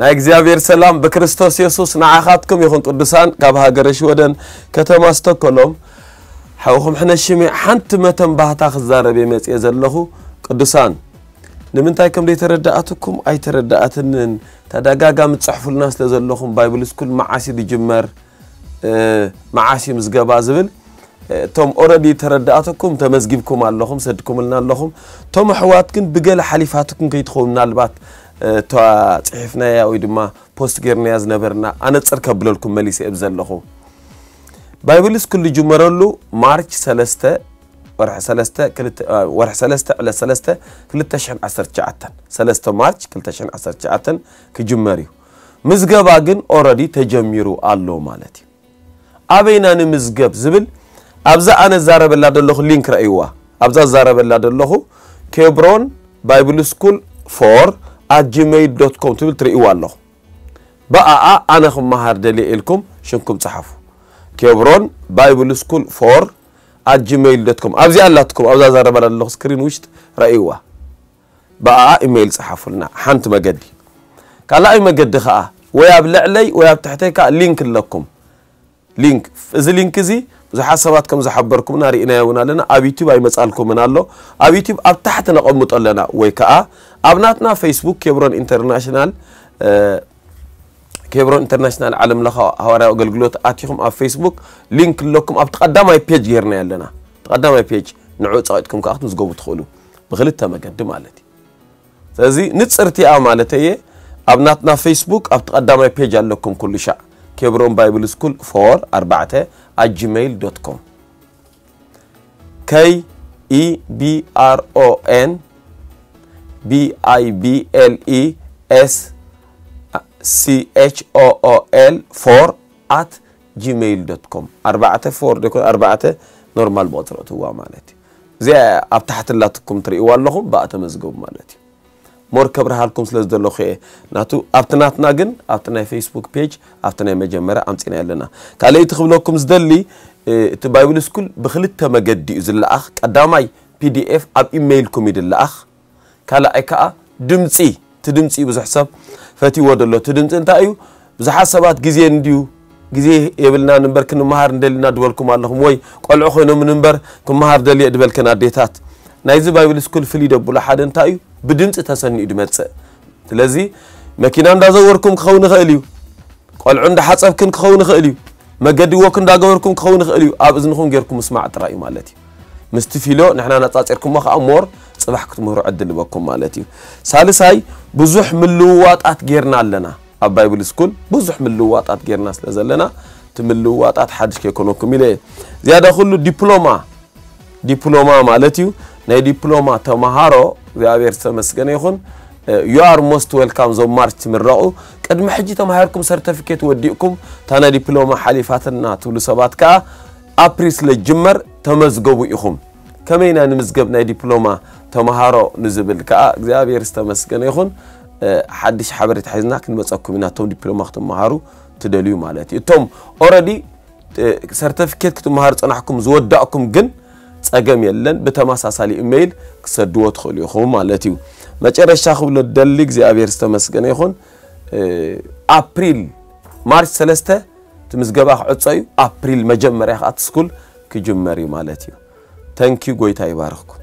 ናይ እግዚኣብሔር ሰላም ብክርስቶስ የሱስ ንዓኻትኩም ይኹን። ቅዱሳን፣ ካብ ሃገረ ሽወደን ከተማ ስቶኮሎም ሓውኹም ሕነ ሽሜ ሓንቲ መተን ባህታ ክዛረብ እየ መጽየ ዘለኹ። ቅዱሳን፣ ንምንታይ ከም ዘይተረዳኣትኩም ኣይተረዳኣትንን። ተደጋጋሚ ትጽሕፉልና ስለ ዘለኹም፣ ባይብል ስኩል መዓስ እዩ ዝጅመር፣ እ፣ መዓስ እዩ ምዝገባ ዝብል፣ እ፣ እቶም ኦረዲ ተረዳኣትኩም ተመዝጊብኩም ኣለኹም፣ ሰድኩምልና ኣለኹም። እቶም ኣሕዋት ግን ብገለ ሓሊፋትኩም ከይትኸውን፣ ምናልባት፣ እ፣ እታ ጽሒፍናያ ወይ ድማ ፖስት ጌርናያ ዝነበርና፣ ኣነጽር ከብለልኩም መሊሰ እብ ዘለኹ። ባይብል ስኩል ዝጅመረሉ ማርች ሰለስተ፣ ወርሒ ሰለስተ፣ ክልተ፣ እ፣ ወርሒ ሰለስተ፣ ዕለት ሰለስተ፣ ክልተ ሽሕን ዓሰርተ ትሽዓተን፣ ሰለስተ ማርች ክልተ ሽሕን ዓሰርተ ትሽዓተን ክጅመር እዩ። ምዝገባ ግን ኦረዲ ተጀሚሩ ኣሎ ማለት እዩ። ኣበይና ንምዝገብ ዝብል ኣብዛ ኣነ ዛረበላ ዘለኹ ሊንክ ረእይዋ። ኣብዛ ዛረበላ ዘለኹ ኬብሮን ባይብል ስኩል ፎር ኣት ጂሜይል ዶት ኮም ትብል ትርእይዋ ኣለኹ። ብኣኣ ኣነ ክመሃር ደልየ ኢልኩም ሽምኩም ጸሓፉ። ኬብሮን ባይብል ስኩል ፎር ኣት ጂሜይል ዶት ኮም። ኣብዚኣ ኣላትኩም፣ ኣብዛ ዛረበላ ዘለኹ ስክሪን ውሽጥ ረእይዋ። ብኣኣ ኢሜይል ጸሓፉልና። ሓንቲ መገዲ። ካልኣይ መገዲ ከኣ ወይ ኣብ ልዕለይ ወይ ኣብ ትሕተይ ከኣ ሊንክ ኣለኩም። ሊንክ፣ እዚ ሊንክ እዚ ብዙሓት ሰባት ከም ዝሓበርኩምና ርኢናዮ እውን ኣለና። ኣብ ዩቲዩብ ኣይመጻልኩምን ኣሎ። ኣብ ዩቲዩብ ኣብ ታሕቲ ነቐምጦ ኣለና፣ ወይ ከኣ ኣብ ናትና ፌስቡክ ኬብሮን ኢንተርናሽናል፣ እ፣ ኬብሮን ኢንተርናሽናል ዓለም ለኻዊ ሃዋርያዊ ኣገልግሎት ኣቲኹም ኣብ ፌስቡክ ሊንክ ኣለኩም። ኣብቲ ቀዳማይ ፔጅ ጌርናዮ ኣለና። እቲ ቀዳማይ ፔጅ ንዕኡ ጸቒጥኩም ከኣ ክትምዝገቡ ትኽእሉ፣ ብኽልተ መገዲ ማለት እዩ። ስለዚ ንጽርቲ እያ ማለት እየ። ኣብ ናትና ፌስቡክ ኣብቲ ቀዳማይ ፔጅ ኣለኩም ኩሉ ሻዕ። ኬብሮን ባይብል ስኩል ፎር ኣርባዕተ ኣት ጂሜይል ዶት ኮም። K E B R O N B I B L E S C H O O L ፎር ኣት ጂሜይል ዶት ኮም። ኣርባዕተ ፎር ደኮ ኣርባዕተ ኖርማል ብቑጽሪ እትዋ ማለት እዩ። እዚኣ ኣብ ታሕቲ ላትኩም ትርእይዋ ኣለኹም፣ ብኣ ተመዝገቡ ማለት እዩ። ሞር ከብርሃልኩም ስለ ዝደለኹ እየ። ናቱ ኣብቲ ናትና ግን ኣብቲ ናይ ፌስቡክ ፔጅ ኣብቲ ናይ መጀመርያ ኣምጺና ኣለና። ካልኣይቲ ክብለኩም ዝደሊ፣ እ፣ እቲ ባይብል ስኩል ብኽልተ መገዲ እዩ ዝለኣኽ። ቀዳማይ ፒ ዲ ኤፍ ኣብ ኢሜይልኩም እዩ ዝለኣኽ። ካልኣይ ከኣ ድምጺ፣ እቲ ድምጺ ብዙሕ ሰብ ፈትይዎ ዘሎ። እቲ ድምጺ እንታይ እዩ? ብዙሓት ሰባት ግዜ እንድዩ፣ ግዜ የብልናን እምበር ክንመሃር እንደልና ድበልኩም ኣለኹም፣ ወይ ቆልዑ ኮይኖምን እምበር ክመሃር ደልየ ድበልክን ኣዴታት። ናይዚ ባይብል ስኩል ፍልይ ደብሎ ሓደ እንታይ እዩ? ብድምጺ ተሰኒኡ ድመጽእ። ስለዚ መኪና እንዳዘወርኩም ክኸውን ይኽእል እዩ። ቆልዑ እንዳሓጸብክን ክኸውን ይኽእል እዩ። መገዲ ወክ እንዳገበርኩም ክኸውን ይኽእል እዩ። ኣብ እዝንኹም ጌርኩም ምስማዕ ጥራይ እዩ ማለት እዩ። ምስቲ ፊሎ ንሕና ነጻጺርኩሞ ከኣ ሞር ጽባሕ ክትምህሩ ዕድል ይበኩም ማለት እዩ። ሳልሳይ፣ ብዙሕ ምልውዋጣት ጌርና ኣለና። ኣብ ባይብል ስኩል ብዙሕ ምልውዋጣት ጌርና ስለ ዘለና፣ እቲ ምልውዋጣት ሓድሽ ከይኮነኩም ኢለ እየ። ዝያዳ ኩሉ ዲፕሎማ፣ ዲፕሎማ ማለት እዩ። ናይ ዲፕሎማ ተመሃሮ፣ እግዚኣብሔር ዝተመስገነ ይኹን፣ you are most welcome። ዞም ማርች ትምረቑ፣ ቅድሚ ሕጂ ተማሂርኩም ሰርተፊኬት ወዲእኩም፣ እታ ናይ ዲፕሎማ ሓሊፋትና ትብሉ ሰባት ከኣ ኣፕሪል ስለ ዝጅመር ተመዝገቡ ኢኹም። ከመይ ኢና ንምዝገብ ናይ ዲፕሎማ ተመሃሮ ንዝብል ከኣ እግዚኣብሔር ዝተመስገነ ይኹን፣ እ፣ ሓድሽ ሓበሬታ ሒዝና ክንመጸኩም ኢና፣ እቶም ዲፕሎማ ክትመሃሩ ትደልዩ ማለት እዩ። እቶም ኦረዲ፣ እ፣ ሰርተፊኬት ክትመሃሩ ጸናሕኩም ዝወዳእኩም ግን ጸገም የለን፣ ብተመሳሳሊ ኢሜይል ክሰድዎ ትኽእሉ ኢኹም ማለት እዩ። መጨረሻ ክብሎ ደሊ እግዚኣብሔር ዝተመስገነ ይኹን፣ እ፣ ኣፕሪል፣ ማርች ሰለስተ እቲ ምዝገባ ክዕጾ እዩ። ኣፕሪል መጀመርያ ከኣ እቲ ስኩል ክጅመር እዩ ማለት እዩ። ተንኪዩ፣ ጎይታ ይባርኽኩም።